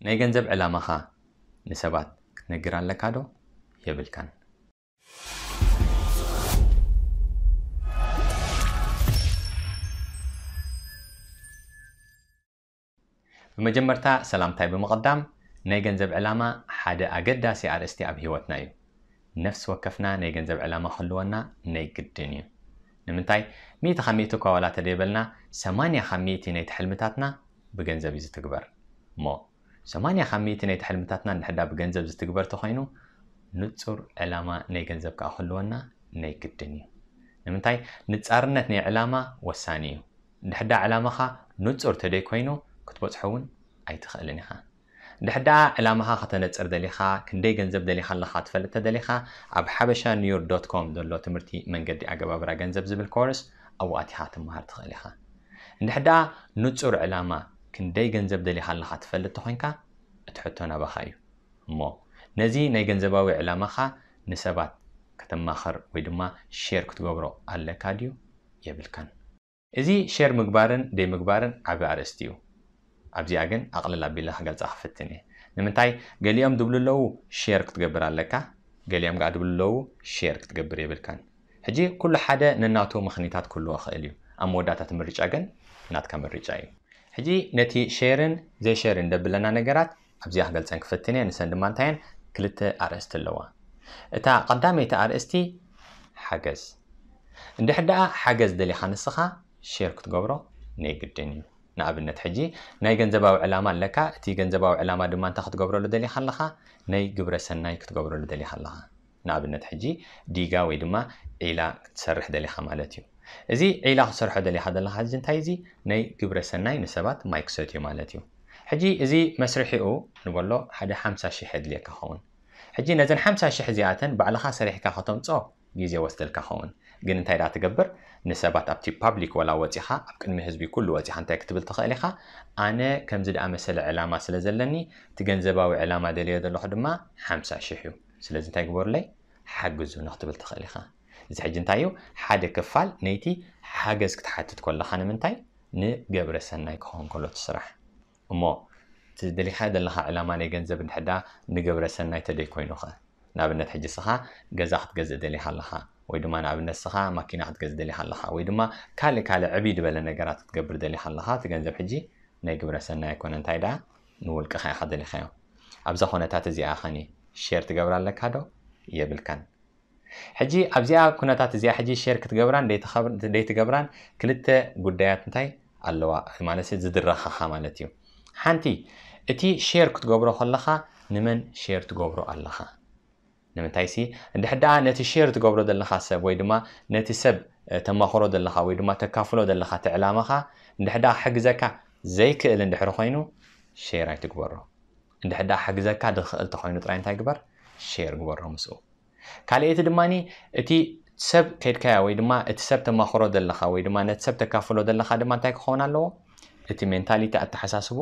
ናይ ገንዘብ ዕላማኻ ንሰባት ክትነግር ኣለካ ዶ? የብልካን። ብመጀመርታ ሰላምታይ ብምቕዳም፣ ናይ ገንዘብ ዕላማ ሓደ ኣገዳሲ ኣርእስቲ ኣብ ህይወትና እዩ። ነፍሲ ወከፍና ናይ ገንዘብ ዕላማ ክህልወና ናይ ግድን እዩ። ንምንታይ? ሚእቲ ካብ ሚእቲ እኳ ዋላ ተደይበልና፣ ሰማንያ ካብ ሚእቲ ናይቲ ሕልምታትና ብገንዘብ እዩ ዝትግበር። እሞ ሰማንያ ካብ ሚእቲ ናይቲ ሕልምታትና እንድሕዳ ብገንዘብ ዝትግበር ተኾይኑ፣ ንጹር ዕላማ ናይ ገንዘብ ከኣ ክህልወና ናይ ግድን እዩ። ንምንታይ? ንጻርነት ናይ ዕላማ ወሳኒ እዩ። እንድሕዳ ዕላማኻ ንጹር ተደይ ኮይኑ፣ ክትበጽሖ እውን ኣይትኽእልን ኢኻ። እንድሕዳ ዕላማኻ ከተነጽር ደሊኻ፣ ክንደይ ገንዘብ ደሊኻ ኣለኻ ትፈልጥ ተደሊኻ፣ ኣብ ሓበሻ ኒውዮርክ ዶት ኮም ዘሎ ትምህርቲ መንገዲ ኣገባብራ ገንዘብ ዝብል ኮርስ ኣብኡ ኣቲኻ ትመሃር ትኽእል ኢኻ። እንድሕዳ ንጹር ዕላማ፣ ክንደይ ገንዘብ ደሊኻ ኣለኻ ትፈልጥ ተኾይንካ፣ እቲ ሕቶ ናባኻ እዩ። እሞ ነዚ ናይ ገንዘባዊ ዕላማኻ ንሰባት ከተማኽር ወይ ድማ ሼር ክትገብሮ ኣለካ ድዩ? የብልካን። እዚ ሼር ምግባርን ደይምግባርን ዓቢ ኣርእስቲ እዩ። ኣብዚኣ ግን ኣቕልል ኣቢለ ክገልጻ ክፍትን እየ። ንምንታይ? ገሊኦም ድብሉ ኣለዉ ሼር ክትገብር ኣለካ፣ ገሊኦም ከኣ ድብሉ ኣለዉ ሼር ክትገብር የብልካን። ሕጂ ኩሉ ሓደ ነናቱ ምኽንያታት ክህልዎ ይኽእል እዩ። ኣብ መወዳእታ እቲ ምርጫ ግን ናትካ ምርጫ እዩ። ሕጂ ነቲ ሼርን ዘይሼርን ደብለና ነገራት ኣብዚኣ ክገልጸን ክፍትን እየ። ንሰን ድማ እንታይ እየን? ክልተ ኣርእስቲ ኣለዋ። እታ ቀዳመይቲ ኣርእስቲ ሓገዝ። እንድሕር ደኣ ሓገዝ ደሊኻ ንስኻ ሼር ክትገብሮ ናይ ግድን እዩ። ንኣብነት ሕጂ ናይ ገንዘባዊ ዕላማ ኣለካ። እቲ ገንዘባዊ ዕላማ ድማ እንታይ ክትገብረሉ ደሊኻ ኣለኻ? ናይ ግብረ ሰናይ ክትገብረሉ ደሊኻ ኣለኻ። ንኣብነት ሕጂ ዲጋ ወይ ድማ ዒላ ክትሰርሕ ደሊኻ ማለት እዩ። እዚ ዒላ ክትሰርሖ ደሊኻ ዘለኻ ሕጂ እንታይ እዚ ናይ ግብረ ሰናይ ንሰባት ማይ ክሰትዩ ማለት እዩ። ሕጂ እዚ መስርሒኡ ንበሎ ሓደ ሓምሳ ሽሕ የድልየካ ኸውን። ሕጂ ነዘን ሓምሳ ሽሕ እዚኣተን ባዕልኻ ሰሪሕካ ከተምጾ ግዜ ወስደልካ ኸውን። ግን እንታይ ደኣ ትገብር? ንሰባት ኣብቲ ፓብሊክ ወላ ወጺኻ ኣብ ቅድሚ ህዝቢ ኩሉ ወጺኻ እንታይ ክትብል ትኽእል ኢኻ? ኣነ ከምዚ ደኣ መሰለ ዕላማ ስለ ዘለኒ እቲ ገንዘባዊ ዕላማ ደልዮ ዘለኹ ድማ ሓምሳ ሽሕ እዩ። ስለዚ እንታይ ግበሩለይ? ሓግዙ ንክትብል ትኽእል ኢኻ። እዚ ሕጂ እንታይ እዩ? ሓደ ክፋል ነይቲ ሓገዝ ክትሓትት ከለኻ ንምንታይ? ንገብረ ሰናይ ክኸውን ከሎ እቲ ስራሕ። እሞ እቲ ደሊኻ ዘለኻ ዕላማ ናይ ገንዘብ እንድሕዳ ንገብረ ሰናይ ተደይ ኮይኑኸ? ንኣብነት ሕጂ ስኻ ገዛ ክትገዝእ ደሊኻ ኣለኻ ወይ ድማ ንኣብነት ስኻ ማኪና ክትገዝእ ደሊኻ ኣለኻ ወይ ድማ ካልእ ካልእ ዕብይ ዝበለ ነገራት ክትገብር ደሊኻ ኣለኻ። እቲ ገንዘብ ሕጂ ናይ ግብረ ሰናይ ኣይኮነ እንታይ ደኣ ንውልቅኻ ኢኻ ደሊኻዮ። ኣብዛ ኩነታት እዚኣ ኸኒ ሼር ትገብር ኣለካ ዶ? የብልካን። ሕጂ ኣብዚኣ ኩነታት እዚኣ ሕጂ ሼር ክትገብራን ደይትኸብ- ደይትገብራን ክልተ ጉዳያት እንታይ ኣለዋ ማለት ዝድረኻኻ ማለት እዩ። ሓንቲ እቲ ሼር ክትገብሮ ከለኻ ንመን ሼር ትገብሮ ኣለኻ? ንምንታይ ሲ እንድሕር ደኣ ነቲ ሼር ትገብሮ ዘለኻ ሰብ ወይ ድማ ነቲ ሰብ ተማኽሮ ዘለኻ ወይ ድማ ተካፍሎ ዘለኻ እቲ ዕላማኻ እንድሕር ደኣ ክሕግዘካ ዘይክእል እንድሕር ኮይኑ ሼር ኣይትግበሮ። እንድሕር ደኣ ክሕግዘካ ዝኽእል ተኾይኑ ጥራይ እንታይ ግበር? ሼር ግበሮ ምስኡ። ካልኣይቲ ድማ እቲ ሰብ ከድካያ ወይ ድማ እቲ ሰብ ተማኽሮ ዘለኻ ወይ ድማ ነቲ ሰብ ተካፍሎ ዘለኻ ድማ እንታይ ክኸውን ኣለዎ? እቲ ሜንታሊቲ ኣተሓሳስብኡ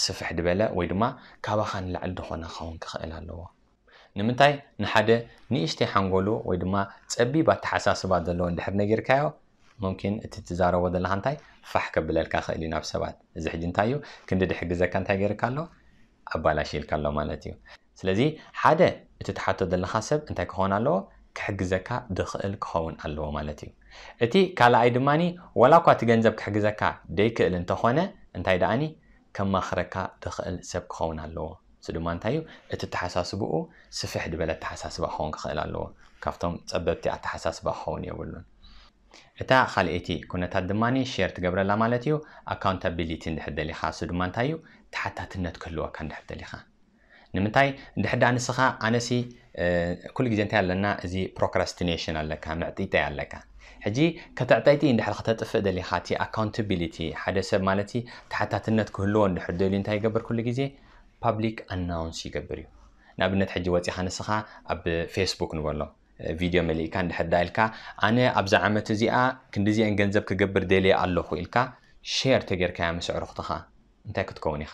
ስፍሕ ዝበለ ወይ ድማ ካባኻ ንላዕሊ ዝኾነ ክኸውን ክኽእል ኣለዎ። ንምንታይ ንሓደ ንእሽተይ ሓንጎሉ ወይ ድማ ጸቢብ ኣተሓሳስባ ዘለዎ እንድሕር ነጊርካዮ፣ ሙምኪን እቲ ትዛረቦ ዘለኻ እንታይ ፋሕ ከብለልካ ክእል እዩ ናብ ሰባት። እዚ ሕጂ እንታይ እዩ ክንዲ ድሕግዘካ እንታይ ገይርካ ኣሎ? ኣባላሽ ኢልካ ኣሎ ማለት እዩ። ስለዚ ሓደ እቲ ትሓቶ ዘለኻ ሰብ እንታይ ክኸውን ኣለዎ? ክሕግዘካ ድኽእል ክኸውን ኣለዎ ማለት እዩ። እቲ ካልኣይ ድማኒ ዋላ እኳ እቲ ገንዘብ ክሕግዘካ ደይክእል እንተኾነ እንታይ ደኣኒ ከማኽረካ ድኽእል ሰብ ክኸውን ኣለዎ። እዚ ድማ እንታይ እዩ? እቲ ኣተሓሳስብኡ ስፍሕ ዝበለ ኣተሓሳስባ ክኸውን ክኽእል ኣለዎ። ካብቶም ጸበብቲ ኣተሓሳስባ ክኸውን የብሉን። እታ ካልኣይቲ ኩነታት ድማ ሼር ትገብረላ ማለት እዩ። ኣካውንታቢሊቲ እንድሕር ደሊኻ እሱ ድማ እንታይ እዩ? ተሓታትነት ክህልወካ እንድሕር ደሊኻ። ንምንታይ እንድሕር ደኣ ንስኻ ኣነሲ ኩሉ ግዜ እንታይ ኣለና? እዚ ፕሮክራስቲኔሽን ኣለካ፣ ምዕጢጠይ ኣለካ። ሕጂ ከተዕጠይቲ እንድሕር ከተጥፍእ ደሊኻ እቲ ኣካውንታቢሊቲ ሓደ ሰብ ማለት ተሓታትነት ክህልዎ እንድሕር ደልዩ እንታይ ይገብር ኩሉ ግዜ? ፓብሊክ ኣናውንስ ይገብር እዩ። ንኣብነት ሕጂ ወፂኻ ንስኻ ኣብ ፌስቡክ ንበሎ ቪድዮ መሊእካ እንድሕር ዳ ኢልካ ኣነ ኣብዛ ዓመት እዚኣ ክንዲዚአን ገንዘብ ክገብር ደልየ ኣለኹ ኢልካ ሼር ተጌርካያ ምስ ኣዕሩኽትኻ እንታይ ክትከውን ኢኻ?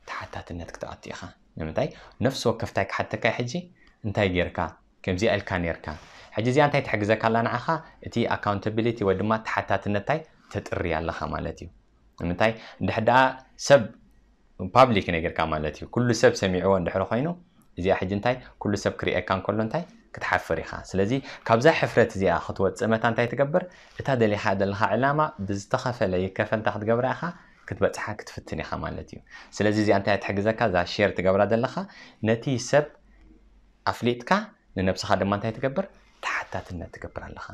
ተሓታትነት ክትኣቱ ኢኻ። ንምንታይ? ነፍሲ ወከፍ እንታይ ክሓተካ እዩ ሕጂ? እንታይ ጌርካ? ከምዚኣ ኢልካ ኔርካ። ሕጂ እዚኣ እንታይ ትሕግዘካ ኣላ ንዓኻ? እቲ ኣካውንታቢሊቲ ወይ ድማ ተሓታትነት እንታይ ተጥሪ ኣለኻ ማለት እዩ። ንምንታይ? እንድሕር ደኣ ሰብ ፓብሊክ ነጊርካ ማለት እዩ። ኩሉ ሰብ ሰሚዕዎ እንድሕር ኮይኑ እዚኣ ሕጂ እንታይ ኩሉ ሰብ ክርእየካ እንከሎ እንታይ ክትሓፍር ኢኻ። ስለዚ ካብዛ ሕፍረት እዚኣ ክትወፅእ መታ እንታይ ትገብር? እታ ደሊኻ ዘለኻ ዕላማ ብዝተኸፈለ ይከፈል እንታይ ክትገብራ ኢኻ? ክትበፅሓ ክትፍትን ኢኻ ማለት እዩ። ስለዚ እዚኣ እንታይ ትሕግዘካ? እዛ ሼር ትገብራ ዘለኻ ነቲ ሰብ ኣፍሊጥካ ንነብስኻ ድማ እንታይ ትገብር? ተሓታትነት ትገብር ኣለኻ።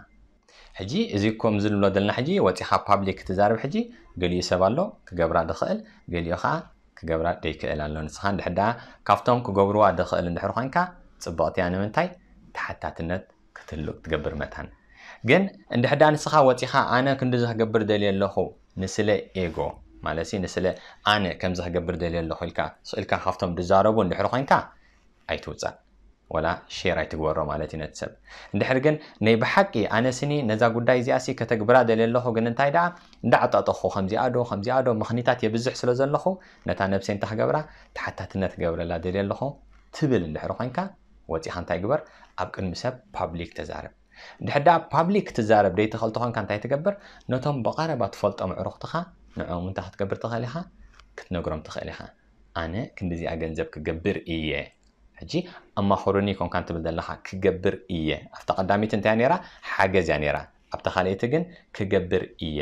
ሕጂ እዚ ከምዚ ንብሎ ዘለና ሕጂ ወፂኻ ፓብሊክ ትዛረብ ሕጂ ገሊኡ ሰብ ኣሎ ክገብራ ዝኽእል፣ ገሊኡ ከዓ ክገብራ ደይክእል ኣሎ። ንስኻ እንድሕር ደኣ ካብቶም ክገብርዋ ዝኽእል እንድሕር ኮይንካ ፅብቕቲ እያ። ንምንታይ? ተሓታትነት ክትህሉ ክትገብር መታን። ግን እንድሕር ደኣ ንስኻ ወፂኻ ኣነ ክንድዚ ክገብር ደልየ ኣለኹ ንስለ ኤጎ ማለት ንስለ ኣነ ከምዚ ክገብር ደልየ ኣለኹ ኢልካ ስኢልካ ካብቶም ዝዛረቡ እንድሕር ኮይንካ ኣይትውፃእ። ወላ ሼር ኣይትግበሮ ማለት እዩ ነቲ ሰብ። እንድሕር ግን ናይ ብሓቂ ኣነ ስኒ ነዛ ጉዳይ እዚኣ ሲ ከተግብራ ደልየ ኣለኹ ግን እንታይ ደኣ እንዳዓጣጠኹ ከምዚኣ ዶ ከምዚኣ ዶ ምኽኒታት የብዝሕ ስለ ዘለኹ ነታ ነብሰይ እንታይ ክገብራ ተሓታትነት ክገብረላ ደልየ ኣለኹ ትብል እንድሕር ኮይንካ ወፂኻ እንታይ ግበር ኣብ ቅድሚ ሰብ ፓብሊክ ተዛረብ። እንድሕር ደኣ ፓብሊክ ትዛረብ ደይትኽእል ተኾንካ እንታይ ትገብር? ነቶም ብቐረባ ትፈልጦም ኣዕሩኽትኻ ንዕኦም እንታይ ክትገብር ትኽእል ኢኻ? ክትነግሮም ትኽእል ኢኻ። ኣነ ክንድዚኣ ገንዘብ ክገብር እየ ሕጂ ኣማኽሩኒ ኮንካ ትብል ዘለኻ ክገብር እየ ኣብታ ቀዳሚት እንታይ ነራ ሓገዝ እያ ነራ ኣብታ ካልኣይቲ ግን ክገብር እየ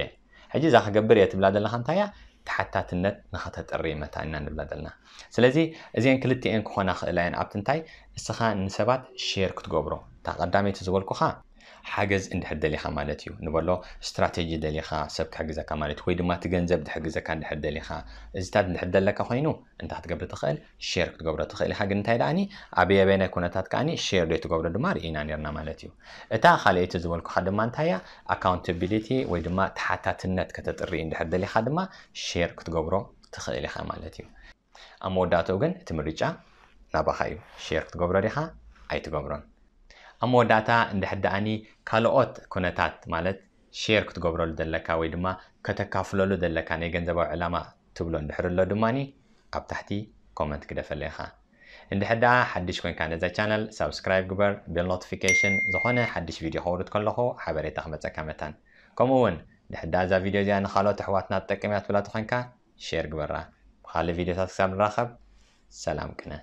ሕጂ እዛ ክገብር እየ ትብላ ዘለኻ እንታይ እያ ተሓታትነት ንኸተጥሪ መታ ኢና ንብላ ዘለና ስለዚ እዚአን ክልቲአን ክኾና ክእላ እየን ኣብቲ እንታይ እስኻ ንሰባት ሼር ክትገብሮ እታ ቀዳመይቲ ዝበልኩኻ ሓገዝ እንድሕር ደሊኻ ማለት እዩ ንበሎ ስትራቴጂ ደሊኻ ሰብ ክሕግዘካ ማለት ወይ ድማ እቲ ገንዘብ ድሕግዘካ እንድሕር ደሊኻ እዚታት እንድሕር ደለካ ኮይኑ እንታይ ክትገብር ትኽእል ሼር ክትገብሮ ትኽእል ኢኻ ግን እንታይ ደኣኒ ኣበይ ኣበይናይ ኩነታት ከኣኒ ሼር ዶ ትገብሮ ድማ ርኢና ነርና ማለት እዩ እታ ካልኣይቲ ዝበልኩኻ ድማ እንታይ እያ ኣካውንታቢሊቲ ወይ ድማ ተሓታትነት ከተጥሪ እንድሕር ደሊኻ ድማ ሼር ክትገብሮ ትኽእል ኢኻ ማለት እዩ ኣብ መወዳእትኡ ግን እቲ ምርጫ ናባኻ እዩ ሼር ክትገብሮ ዲኻ ኣይትገብሮን ኣብ መወዳእታ እንድሕር ደኣኒ ካልኦት ኩነታት ማለት ሼር ክትገብረሉ ዘለካ ወይ ድማ ከተካፍለሉ ዘለካ ናይ ገንዘባዊ ዕላማ ትብሎ እንድሕር ኣሎ ድማ ኣብ ታሕቲ ኮመንት ግደፈለይ ኢኻ እንድሕር ደኣ ሓድሽ ኮይንካ ነዛ ቻነል ሳብስክራይብ ግበር ቤል ኖቲፊኬሽን ዝኾነ ሓድሽ ቪድዮ ከውርድ ከለኹ ሓበሬታ ክመፀካ መታን ከምኡ እውን ድሕር ደኣ እዛ ቪድዮ እዚኣ ንካልኦት ኣሕዋትና ትጠቅም እያ ትብላ ተኾይንካ ሼር ግበራ ብካልእ ቪድዮታት ክሳብ ንራኸብ ሰላም ቅነ